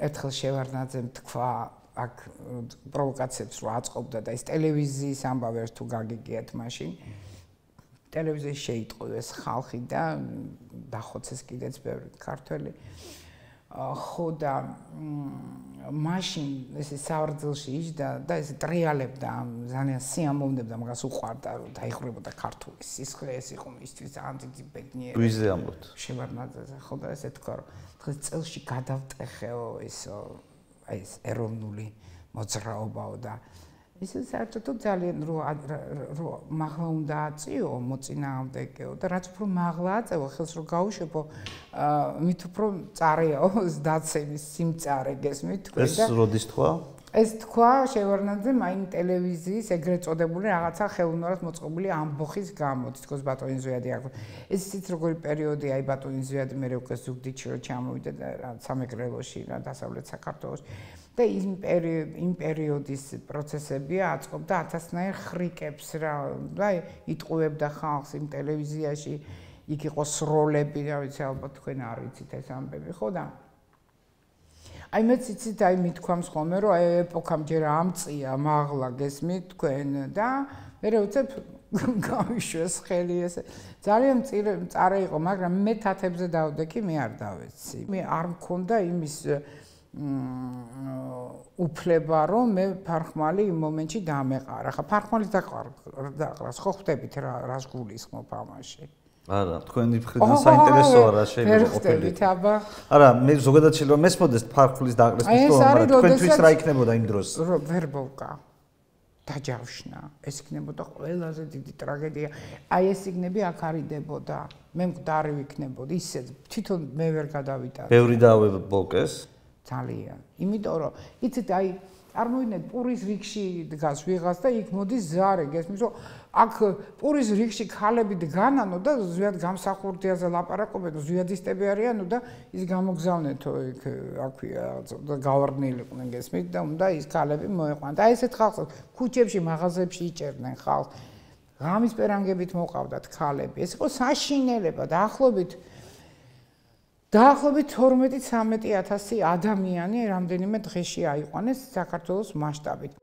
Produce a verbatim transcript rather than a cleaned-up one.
ერთხელ შევარდნაძემ თქვა აქ პროვოკაციებს რო აწყობდა და ეს ტელევიზიის ამბავი ერთ თუ გაგიგიათ მაშინ ტელევიზიაში შეიტყოდეს ხალხი და დახოცეს კიდეც ბევრი ქართველი ხო და მაშინ ესე სავარძელში იჯდა და ესე ტრიალებდა ძალიან სიამოვნებდა მაგას უყვარდა რომ დაიხურებოდა ქართული სისხლი ეს იყო მისთვის ძალიან დიდი ბედნიერი ვიზე ამბობთ შევარდნაძეზე ხო და ესე თქვა რომ დღეს წელში გადავტეხეო ესო აი ეს ეროვნული მოძრაობაო და ისე საერთოდ ძალიან რო რო მაღლა უნდა აწიო მოწინააღმდეგეო და რაც უფრო მაღლა აწევო ხელს რო გაუშვებო მით უფრო წარეაო დაცემის სიმწარე გესმით თქვენ და ეს როდის თქვა ეს თქვა შევარდნაძემ აი ტელევიზიის ეგრეთ წოდებული რაღაცა ხელოვნურად მოწყობილი ამბოხის გამო თითქოს ბატონი ზვიადი აქვს ეს ისიც როგორი პერიოდი აი ბატონი ზვიადი მე უკვე ზუგდიდში რო ჩამოვიდა და რა სამეგრელოში რა დასავლეთ საქართველოში და იმ იმ პერიოდის პროცესებია აწყობდა ათასნაირ ხრიკებს რა და იტყუებდა ხალხს იმ ტელევიზიაში იქ იყო სროლები რა ვიცი ალბათ თქვენ არ იცით ეს ამბები ხო და აი მეც იცით აი მithქვამს ხოლმე რომ აი ეპოქამ ჯერ ამწია მაღლა გესმით თქვენ და მე უცებ გავიშვეს ხელი ესე ძალიან მწარე იყო მაგრამ მე თათებზე დავდექი მე არ დავეცი მე არ მქონდა იმის უფლება რომ მე ფარხმალი იმ მომენტში დამეყარა ხა ფარხმალის დაყრას ხო ხვდებით რა რას გულისხმობ ამაში არა თქვენი მხრიდან საინტერესოა რა შეიძლება ყოფილიყო არა მე ზოგადად შეიძლება მესმოდეს ფარხმალის დაყრას მისდრომა მაგრამ თქვენთვის რა იქნებოდა იმ დროს ვერბოვკა დაჯავშნა ეს იქნებოდა ყველაზე დიდი ტრაგედია აი ეს იქნები აქ არიდებოდა მე მკვდარი ვიქნებოდი ისე თვითონ მე ვერ გადავიტანე ბევრი დავებოკეს ძალიან იმიტომ რომ იცით აი წარმოვიდგინეთ პურის რიგში დგას ვიღაც და იქ მოდის ზარე გესმის რომ აქ პურის რიგში ქალები დგანანო და ზვიად გამსახურდიაზე ლაპარაკობენ ზვიადისტები არიანო და ის გამოგზავნეთო იქ აქვია და გავარდნილიყვნენ გესმით და უნდა ის ქალები მოეყვანათ აი ესეთ ხალხს ქუჩებში მაღაზიებში იჭერდნენ ხალხს ღამის პერანგებით მოყავდათ ქალები ეს იყო საშინელება დაახლოებით დაახლოებით თორმეტი ცამეტი ათასი ადამიანი რამდენიმე დღეში აიყვანეს საქართველოს მასშტაბით.